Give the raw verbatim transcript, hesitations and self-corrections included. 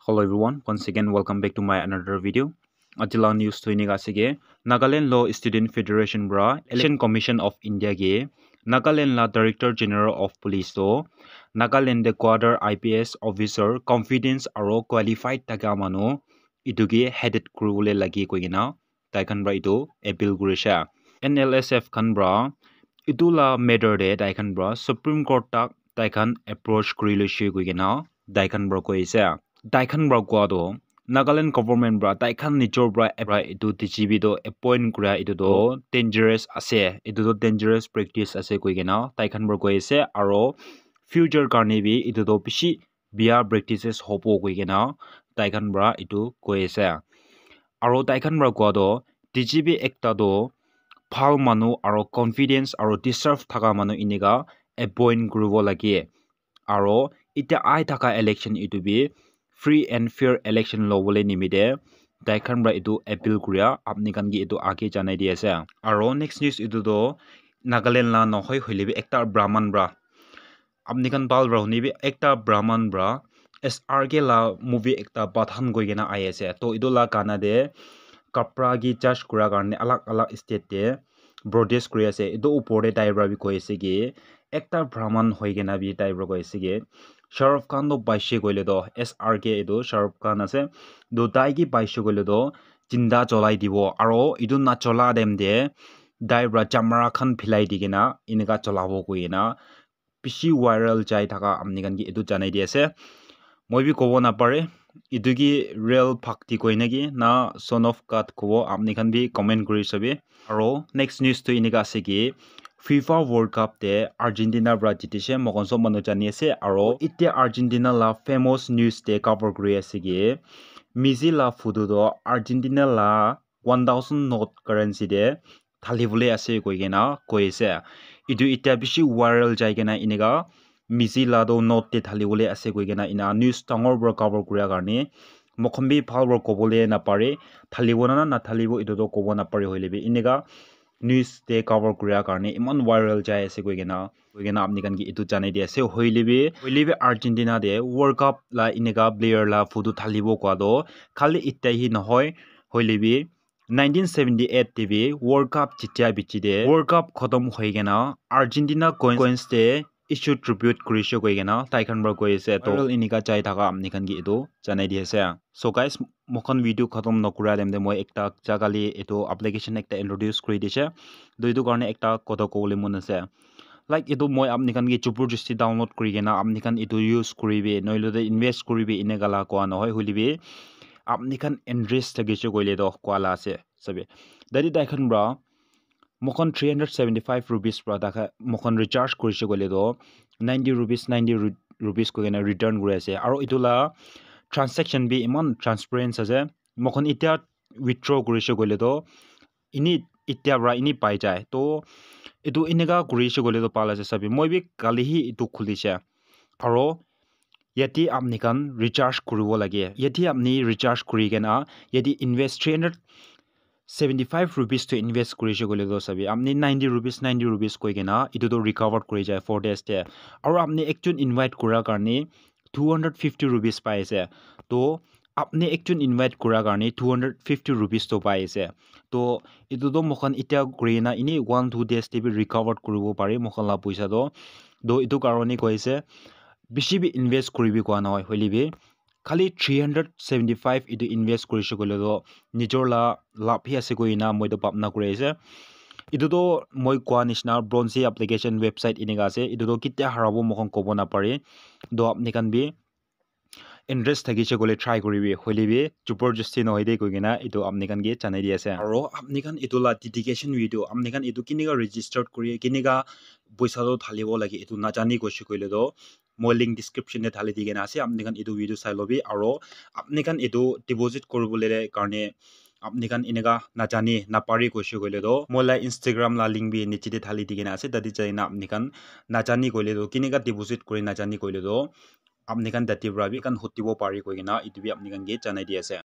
Hello everyone, once again welcome back to my another video. Aji la news tu enika ase ke, Nagaland Law Student Federation para Election Commission of India ke Nagaland la Director General of Police to Nagaland de cadre I P S officer confidence aro qualified thaka manu itu ke headed kuribole lage koi kena tai khan para itu appeal kurishe. N L S F khan para itu la matter de tai khan para Supreme Court tak tai khan approach kuri loishe koi kena tai khan para koi ase. Tai khan para koa toh Nagaland government para tai khan nijor para, para itu D G P toh appoint kura itu toh dangerous ase, itu toh dangerous practice ase koi kena tai khan para koi ase, aro future karne bi itu toh bishi bia practices hobo koi kena tai khan para itu koi ase. Aro tai khan para koa toh D G P ekta toh bhal manu aro confidence aro deserve thaka manu enika appoint kuribo lage. Aro itya ai thaka election itu bi free and fair election lobole nimite tai khan para itu appeal kuria apni khan ke itu age janai di ase. Aro next news itu toh Nagaland la nohoi hoile bi ekta Brahman para, apni khan bhal para huni bi, ekta Brahman para S R K la movie ekta Pathan koi kena ai ase. To itu la gana de kapra ki judge kura karne alag alag state te protest kuri ase. Itu upor te tai para bi koi ase ki ekta Brahman hoi kena bi tai para koi ase ki Shah Rukh Khan toh paishe koile toh S R K itu Shah Rukh Khan ase. To tai ki paishe koile toh jinda cholai dibo. Aro itu na chola time te tai para chamara khan philai di kena enika cholabo koi kena bishi viral jai thaka apni khan ke etu janai di ase. Moi bi kobo napare, etu ki real bhakti koi na ki na son of God kobo, apni khan bi comment kuri sabi. Aro next news tu enika ase ki FIFA World Cup te Argentina para jitise, moikhan sob manu jani ase. Aro itya Argentina la famous news te cover kuri ase ki Messi la photo toh Argentina la one thousand note currency te thali bole ase koi kena koi ase. Etu itya bishi viral jai kena enika Messi la toh note te thali bole ase koi kena ena news dangor para cover kuria karne moikhan bi bhal para kobole napare, thalibo na nathalibo etu toh kobo napare hoile bi enika news te cover kuria karne eman viral jai ase koi kena, koi kena apni khan ke etu janai di ase. Hoile bi, hoile bi Argentina te World Cup la enika player la photo thalibo koa toh khali itya hi nohoi, hoile bi nineteen seventy-eight te bi World Cup jitya bichi te World Cup khotom hoi kena Argentina coins te issue tribute kurishe koi kena tai khan para koi ase. To viral enika jai thaka apni khan ke etu janai di ase. So guys, moikhan video khotom nokura time te moi ekta jaga le etu application ekta introduce kuri dishe. To etu karne ekta kotha kobole mon ase. Like etu moi apni khan ke jabardasti download kuri kena apni khan etu use kuribi, nohole to invest kuribi enika la koa nohoi, hoile bi apni khan interest thakishe koile to koa la ase sabi. Tate tai khan para moikhan three hundred seventy-five rupees para tai khan moikhan recharge kurishe koile to ninety rupees, ninety ru-, rupees koi kena return kuri ase. Aro etu la transaction bi eman transparent ase. Moikhan itya withdraw kurishe koile to ini itya para ini pai jai. To etu enika kurishe koile to bhal ase sabi. Moi bi kali hi etu khulishe. Aro yate apni khan recharge kuribo lage. Yate apni recharge kuri kena yate invest three hundred seventy-five rupees to invest kurishe koile to sabi. Apni ninety rupees, ninety rupees koi kena etu to recover kuri jai four days te. Aro apni ekjon invite kura karne two hundred fifty rupees pai ase. To apni ekjon invite kura karne two hundred fifty rupees to pai ase. To etu to moikhan itya kuri na ini one two days te bi recovered kuribo pare moikhan la poisa to. To etu karne koi ase bishi bi invest kuribi koa nohoi, hoile bi khali three hundred seventy-five etu invest kurishe koile to nijor la labh hi ase koi na moi to bhabna kuri ase. Etu to moi koa nishina bronze application website enika ase. Etu to ketia harabo moikhan kobo napare. To apni khan bi interest thakishe koile try kuribi, hoile bi jabardasti nohoi de koi kena etu apni khan ke janai di ase. Aro apni khan etu la dedication video, apni khan etu kenika registered kuri, kenika poisa to thalibo lage, etu najani koishe koile to moi link description te thali di kena ase, apni khan etu video sai lobi. Aro apni khan etu deposit kuribole karne apni khan enika najani napare koishe koile to moi la Instagram la link bi niche te thali di kena ase, tate jai na apni khan najani koile to kenika deposit kuri najani koile to apni khan tate para bi khan hutibo pare koi kena etu bi apni khan ke janai di ase.